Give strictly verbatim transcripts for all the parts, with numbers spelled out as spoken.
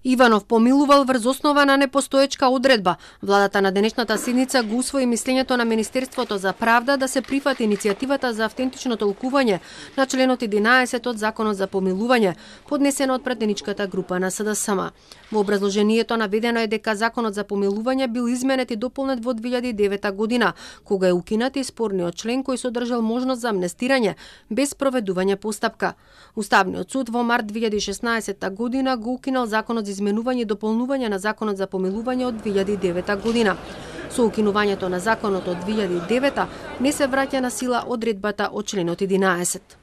Иванов помилувал врз основа на непостоечка одредба. Владата на денешната седница го усвои мислењето на Министерството за правда да се прифати иницијативата за автентично толкување на членот единаесет од Законот за помилување, поднесено од пратеничката група на СДСМ. Во образложението наведено е дека Законот за помилување бил изменет и дополнет во две илјади и девета година, кога е укинат и спорниот член кој содржал можност за амнестирање без проведување постапка. Уставниот суд во март две илјади и шеснаесетта година го укинал Законот за изменување и дополнување на Законот за помилување од две илјади и девета година. Со укинувањето на Законот од две илјади и девета не се враќа на сила одредбата од членот единаесет.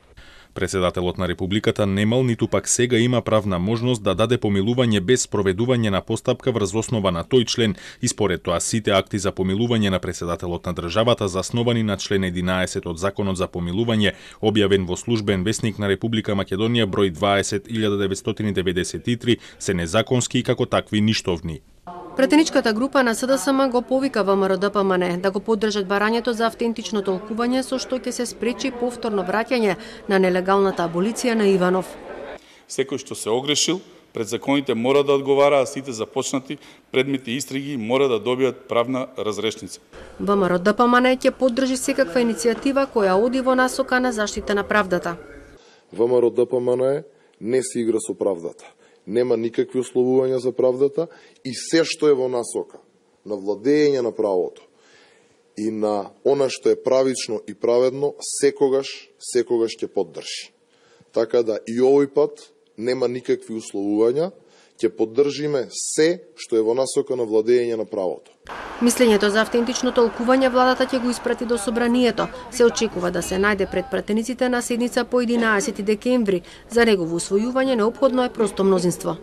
Председателот на Републиката немал ниту пак сега има правна можност да даде помилување без проведување на постапка врз основа на тој член и според тоа сите акти за помилување на председателот на државата засновани на член единаесет од Законот за помилување, објавен во Службен весник на Република Македонија број дваесет илјада деветстотини деветдесет и три, се незаконски и како такви ништовни. Пратеничката група на СДСМ го повика ВМРО-ДПМН да го поддржат барањето за автентично толкување со што ќе се спречи повторно враќање на нелегалната аболиција на Иванов. Секој што се огрешил пред законите мора да одговара, а сите започнати предмети истраги мора да добијат правна разрешница. ВМРО-ДПМН ќе поддржи секаква иницијатива која оди во насока на заштита на правдата. ВМРО-ДПМН не се игра со правдата. Нема никакви условувања за правдата и се што е во насока на владење на правото и на она што е правично и праведно, секогаш, секогаш ќе поддржи. Така да и овој пат нема никакви условувања, ќе поддржиме се што е во насока на владење на правото. Мислењето за автентично толкување владата ќе го испрати до собранието. Се очекува да се најде пред пратениците на седница по единаесети декември. За негово усвојување неопходно е просто мнозинство.